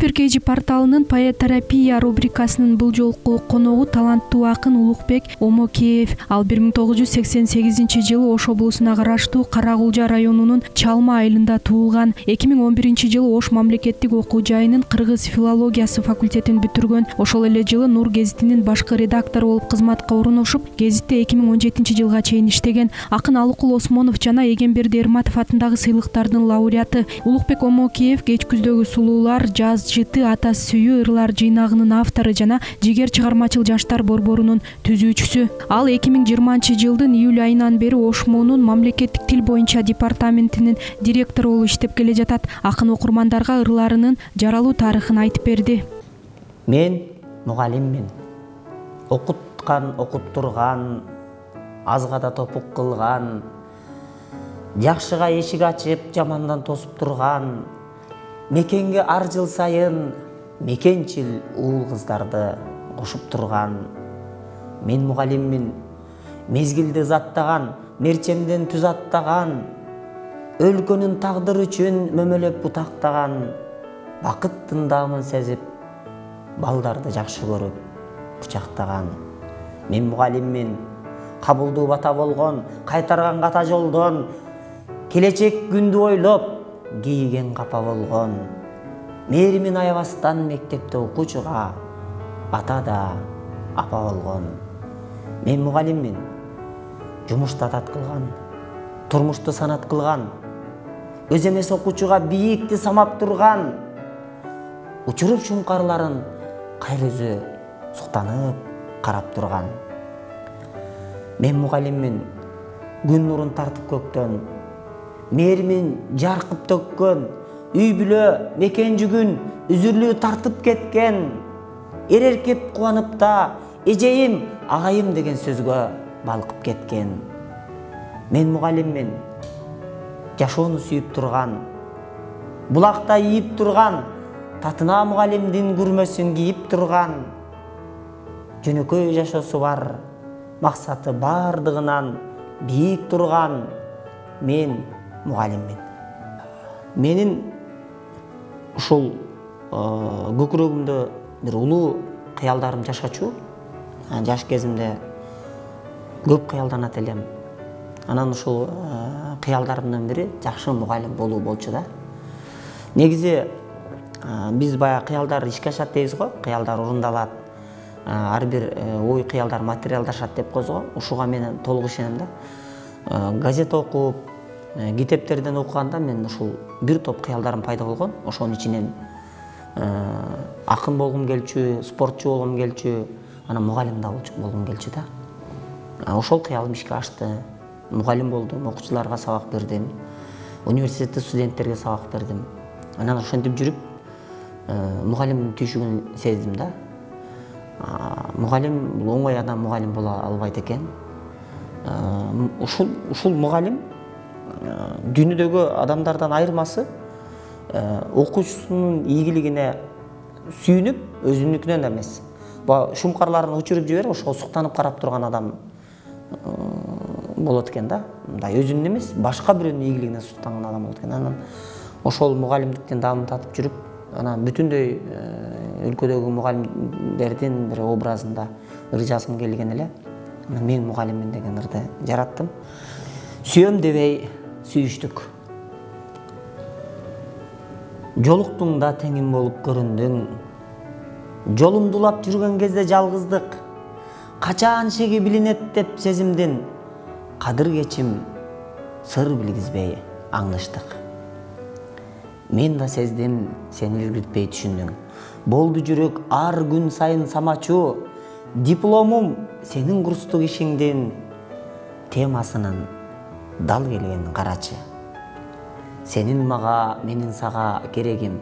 Супер KG порталынын поэтерапия рубрикасынын бул жолку коногу таланттуу акын Улукбек Омокеев. Ал 1988-жылы Ош облусуна караштуу Каракулжа районунун Чалма айылында туулган. 2011-жылы Ош мамлекеттик окуу жайынын кыргыз филологиясы факультетин бүтүргөн. Ошол эле жылы Нур гезитинин башкы редактору болуп кызматка орношуп, гезитте 2017-жылга чейин иштеген. Акын Алыкул Осмонов жана Эгемберди Эрматов атындагы сыйлыктардын лауреаты. Улукбек Омокеев Кеч күздөгү сулуулар, Жаз жыты, ата сүйүү ырлар жыйнагынын автору жана Жигер чыгармачыл жаштар борборунун түзүүчүсү. Ал 2020-жылдын июль айынан бери ОШМУнун мамлекеттик тил боюнча департаментинин директору болуп иштеп келе жатат. Акын окурмандарга ырларынын жаралуу тарыхын айтып берди. Мен мугалиммин. Окуткан, окуттурган, азга да топук кылган, жакшыга эшик ачып, жамандан тосуп турган, мекенге ар жыл сайын мекенчил уул кыздарды кошуп турган. Мен мугалиммин. Мезгилди заттаган, мерчемден түз аттаган, өлкөнүн тагдыры үчүн мөмөлөп бутактаган, бакыттын даамын сезип, балдарды жакшы көрүп кучактаган. Мен мугалиммин. Кабылдуу бата болгон, кайтарган ката жолдон, келечек күндү ойлоп, кийген капа болгон. Мээримин аябастан мектепте окуучуга ата да апа болгон. Мен мугалиммин. Жумушта тат кылган, турмушту санат кылган, өз эмес окуучуга бийикти самап турган, учуруп шумкарларын кайра өзү суктанып карап турган. Мен мугалиммин. Күн нурун тартып көктөн, мээримин жаркып төккөн, үй бүлө, мекен жүгүн үзүрлүү тартып кеткен, эреркеп кубанып да эжейим, агайым деген сөзгө балкып кеткен. Мен мугалиммин. Жашоону сүйүп турган, булакта ийип турган, татына мугалимдин күрмөсүн кийип турган, жөнөкөй жашоосу бар, максаты бардыгынан бийик турган. Мен мугалиммин. Менин ушул көкүрөгүмдө бир улуу кыялдарым жашачу. Жаш кезимде көп кыялданат элем. Анан ушул кыялдарымдын бири жакшы мугалим болуу болчу да. Негизи биз баягы кыялдар ишке ашат дейбиз го, кыялдар орундалат. Ар бир ой кыялдар материалдашат деп коебуз го. Ушуга мен толук ишенем да. Газета окуп, китептерден окуганда мен ушул бир топ кыялдарым пайда болгон. Ошонун ичинен акын болгум келчү, спортчу болгум келчү, анан мугалим да болгум келчү да. Ошол кыялым ишке ашты. Мугалим болдум, окуучуларга сабак бердим, университетте студенттерге сабак бердим. Анан ошентип жүрүп, мугалимдин түйшүгүн сездим да. Мугалим бул оңой адам мугалим боло албайт экен. Ушул мугалим дүйнөдөгү адамдардан айырмасы окуучусунун ийгилигине сүйүнүп, өзүнүкүнөн эмес, шумкарларын учуруп жиберип, ошого суктанып карап турган адам болот экен да. Мындай өзүнүн эмес, башка бирөөнүн ийгилигине суктанган адам болот экен. Анан ошол мугалимдиктин даамын татып жүрүп, анан бүтүндөй өлкөдөгү мугалимдердин бир образында ыр жазгым келген эле. Мен мугалиммин деген ырды жараттым. Сүйөм дебей сүйүштүк. Жолуктуң да теңим болуп көрүндүң. Жолумду улап жүргөн кезде жалгыздык, качаан шеги билинет деп сезимдин. Кадыр кечим сыр билгизбей аңдыштык. Мен да сездим, сен илгиртпей түшүндүң. Болду жүрөк ар күн сайын самачу, дипломум сенин курстук ишиңдин темасынын дал келгенин карачы. Сенин мага, менин сага керегим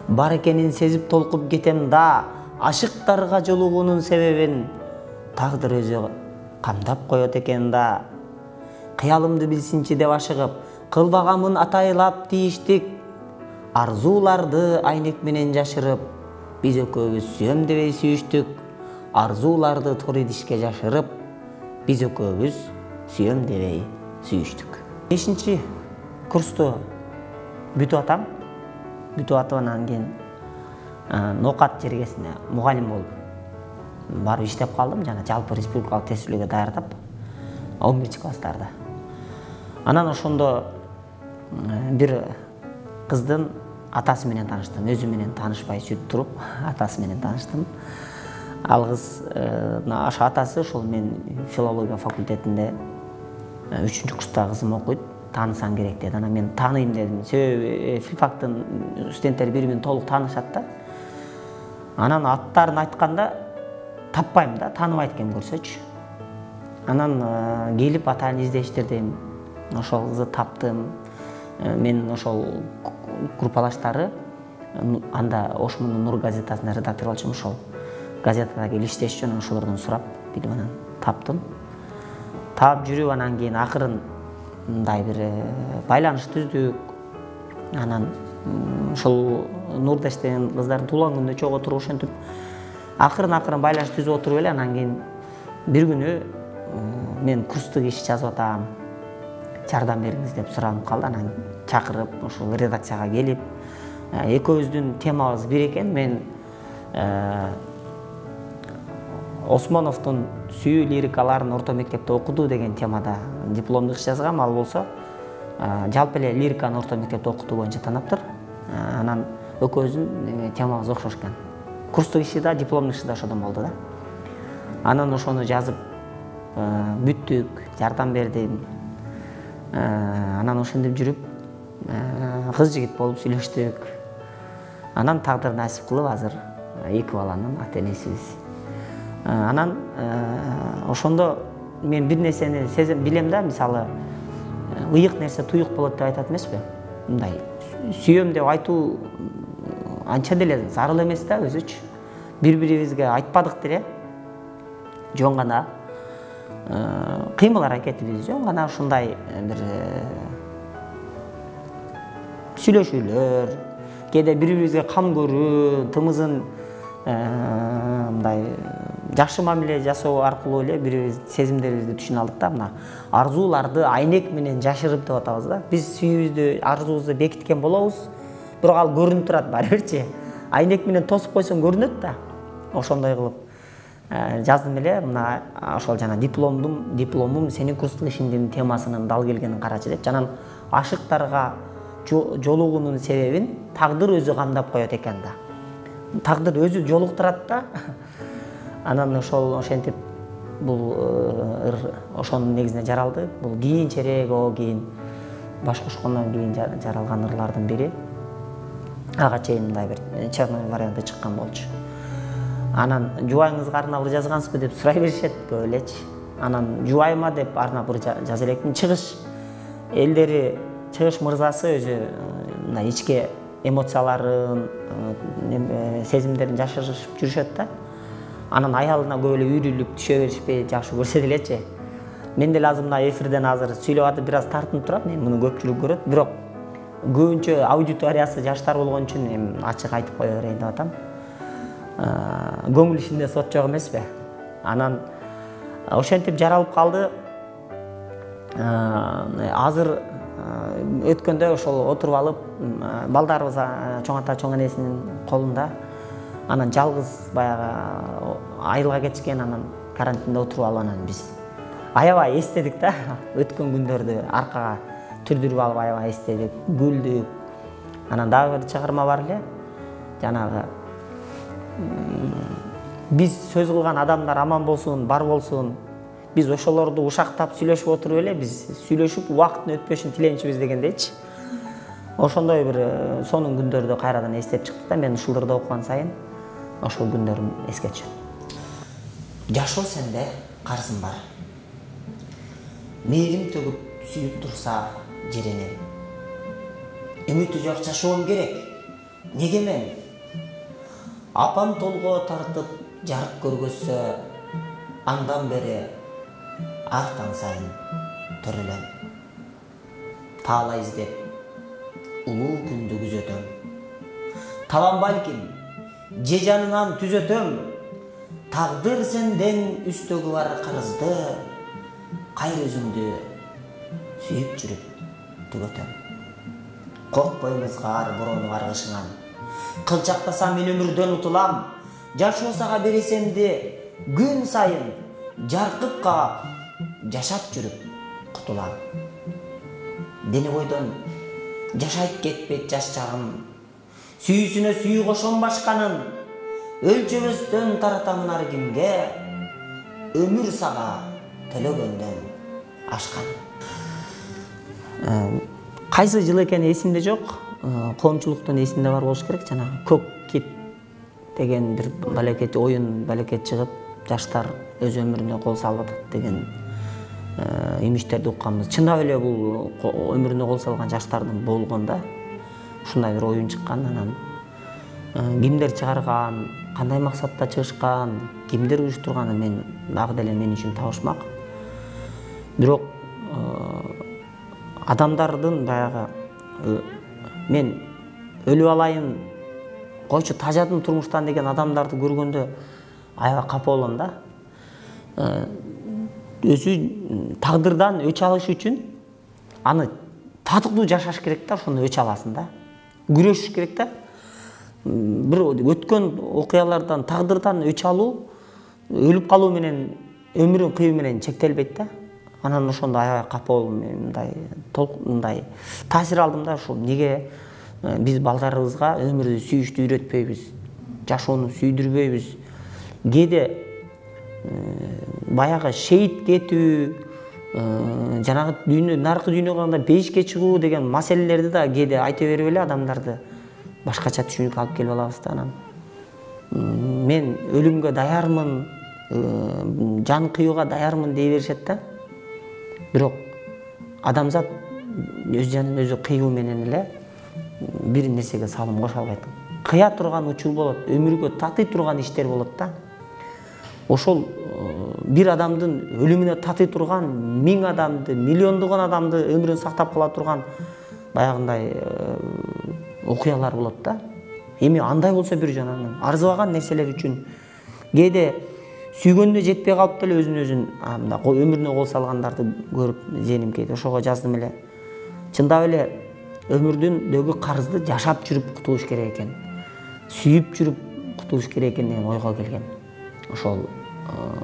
бар экенин сезип толкуп кетем да, ашыктарга жолугуунун себебин тагдыр өзү камдап коет экен да. Кыялымды билсинчи деп ашыгып, кылбагамын атайлап тийиштик, арзууларды айнек менен жашырып, биз экөөбүз сүйөм дебей сүйүштүк. Арзууларды тор идишке жашырып, биз экөөбүз сүйөм дебей сүйүштүк. 5-чи курсту бүтүп атам. Бүтүп атып анан кийин Ноокат жергесине мугалим болуп барып иштеп калдым. Жана жалпы республикалык тестүүлөөгө даярдап 11 класстарда. Анан ошондо бир кыздын атасы менен тааныштым. Өзү менен таанышпай сүйтүп туруп, атасы менен тааныштым. Ал кыз ошо атасы ошол мен филология факультетинде 3-курста кызым окуйт, таанысаң керек деди. Анан мен тааныйм дедим. Себеби филфактын студенттери бири менен толук таанышат да. Анан аттарын айтканда таппайм да, тааныбайт экенмин көрсөчү. Анан келип атаны издештирдим. Ошол кызды таптым. Мен ошол группалаштары анда Ошмундун Нур газетасында редактор болчумун. Ошол газетада келип иштеш үчүн ошолордон сурап, билип анан таптым. Таап жүрүп анан кийин акырын мындай бир байланыш түздүк. Анан ошол Нурда иштеген кыздардын туулган күнүнө чогуу туруп ошентип акырын байланыш түзүп отуруп эле анан кийин бир күнү мен курстук иш жазып атам, жардам бериңиз деп суранып калды. Анан чакырып ошол редакцияга келип, экөөбүздүн темабыз бир экен. Мен Осмоновдун сүйүү лирикаларын орто мектепте окуду деген темада дипломдук иш жазгам. Ал болсо жалпы эле лириканы орто мектепте окутуу боюнча танаптыр. Анан экөөбүздүн темабыз окшош экен. Курстук иши да, дипломдук иши да ошодон болду да. Анан ошону жазып бүттүк, жардам бердим. Анан ошентип жүрүп кыз жигит болуп сүйлөштүк. Анан тагдыр насип кылып азыр 2 баланын ата энесибиз. Анан ошондо мен бир нерсени сезем, билем да, мисалы ыйык нерсе туюк болот деп айтат эмеспи? Мындай сүйөм деп айтуу анча деле зарыл эмес да өзүчү. Бири-бирибизге айтпадык деле. Жөн гана кыймыл аракетибиз, жөн гана ушундай бир сүйлөшүүлөр, кээде бири-бирибизге кам көрүү, тымызын мындай жакшы мамиле жасоо аркылуу эле бири-бирибиз сезимдерибизди түшүнө алдык да. Мына арзууларды айнек менен жашырып деп атабыз да. Биз сүйүүбүздү, арзуубузду бекиткен болобуз, бирок ал көрүнүп турат баары бирчи. Айнек менен тосуп койсоң көрүнөт да. Ошондой кылып жаздым эле. Мына ошол жана дипломум сенин курстук ишиңдин темасынын дал келгенин карачы деп. Жанан ашыктарга жолугуунун себебин тагдыр өзү камдап коет экен да. Тагдыр өзү жолуктурат да. Анан ошентип бул ошонун негизинде жаралды. Бул кийинчерээк кийин баш кошкондон кийин жаралган ырлардын бири. Ага чейин мындай бир черновой варианты чыккан болчу. Анан жубайыңызга арнап ыр жазгансызбы деп сурай беришет көп элечи. Анан жубайыма деп арнап ыр жаза элекмин. Чыгыш элдери, чыгыш мырзасы өзү мындай ичке эмоцияларын, сезимдерин жашырышып жүрүшөт да. Анан аялына көп эле үйрүлүп түшө беришпей жакшы көрсө делечи. Мен деле азыр мына эфирден азыр сүйлөп атып бир аз тартынып турам. Мен муну көпчүлүк көрөт, бирок көбүнчө аудиториясы жаштар болгон үчүн эми ачык айтып кое берейин деп атам. Көңүл ишинде сот жок эмеспи? Анан ошентип жаралып калды. Азыр өткөндө ошол отуруп алып, балдарыбыз чоң ата чоң энесинин колунда. Анан жалгыз баягы айылга кетишкен, анан карантинде отуруп алып анан биз аябай эстедик да. Өткөн күндөрдү аркага түрдүрүп алып аябай эстедик, күлдүк. Анан дагы бир чыгарма бар эле. Жанагы биз сөз кылган адамдар аман болсун, бар болсун. Биз ошолорду ушактап сүйлөшүп отуруп эле, биз сүйлөшүп убакыттын өтпөшүн тилейинчибиз дегендейчи. Ошондой бир сонун күндөрдү кайрадан эстеп чыктык да. Мен ушуларды окуган сайын ошол күндөрүм эске түшөт. Жашоо сенде карызым бар. Мээрим төгүп сүйүп турса жеренем. Үмүтү жок жашоом керек. Неге мен? Апам толго тартып жарык көргөзсө, андан бери ар таң сайын төрөлөм. Таала издеп улуу күндү күзөтөм. Табам балким, же жанынан түзөтөм. Тагдыр сенден үстөгү бар карызды, кайыр өзүңдү сүйүп жүрүп түгөтөм. Коркпоймузга ар бороону каргышыңан, Кылчактасам мен өмүрдөн утулам, жашоо сага бересемди күн сайын жаркып каап, жашап жүрүп кутулам. Дене бойдон жашайт кетпейт жаш чагым, сүйүүсүнө сүйүү кошом башканын, өлчөбөстөн таратамын ар кимге, өмүр сага төлөгөндөн ашканын. Кайсы жыл экени эсимде жок, коомчулуктун эсинде бар болуш керек. Жанагы көк кит деген бир балекет оюн балекет чыгып, жаштар өз өмүрүнө кол салып атат деген имиштерди укканбыз. Чындап эле бул өмүрүнө кол салган жаштардын болгонда ушундай бир оюн чыккан. Анан кимдер чыгарган, кандай максатта чыгышкан, кимдер уюштурганын мен дагы деле мен үчүн табышмак. Бирок адамдардын баягы мен өлүп алайын, койчу тажадым турмуштан деген адамдарды көргөндө аябай капа болом да. Өзү тагдырдан өч алыш үчүн аны татыктуу жашаш керек да, ошондо өч аласың да. Күрөшүш керек да. Бир өткөн окуялардан тагдырдан өч алуу өлүп калуу менен өмүрүн кыюу менен чектелбейт да. Анан ошондо аябай капа болдум, мындай таасир алдым да. Ушул неге биз балдарыбызга өмүрдү сүйүштү үйрөтпөйбүз, жашоону сүйдүрбөйбүз? Кээде баягы шейит кетүү, жанагы дүйнө наркы дүйнөгө калганда бейишке чыгуу деген маселелерди да кээде айта берип эле адамдарды башкача түшүнүккө алып келип алабыз да. Анан мен өлүмгө даярмын, жан кыюуга даярмын дей беришет да. Бирок адамзат өз жанын өзү кыюу менен эле бир нерсеге салым кошо албайт. Кыя турган учур болот, өмүргө татый турган иштер болот да. Ошол бир адамдын өлүмүнө татый турган 1000 адамды, миллиондогон адамды өмүрүн сактап кала турган баягындай окуялар болот да. Эми андай болсо бир жанагы арзыбаган нерселер үчүн кээде сүйгөнүнө жетпей калып деле өзүн мындай өмүрүнө кол салгандарды көрүп зеним кейде. Ошого жаздым эле. Чындап эле өмүрдүндөгү карызды жашап жүрүп кутулуш керек экен. Сүйүп жүрүп кутулуш керек экен деген ойго келген. Ошол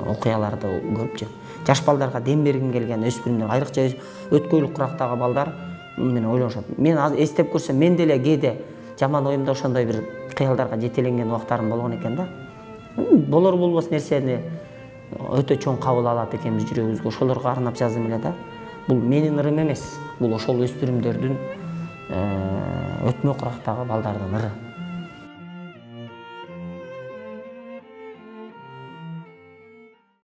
окуяларды көрүпчү. Жаш балдарга дем бергим келген, өспүрүмдөр, айрыкча өткөйлүк курактагы балдар менен ойлонушат. Мен эстеп көрсөм, мен деле кээде жаман оюмда ошондой бир кыялдарга жетеленген убактарым болгон экен да. Болор болбос нерсени өтө чоң кабыл алат экенбиз жүрөгүбүзгө. Ошолорго арнап жаздым эле да. Бул менин ырым эмес, бул ошол өспүрүмдөрдүн өтмө курактагы балдардын ыры.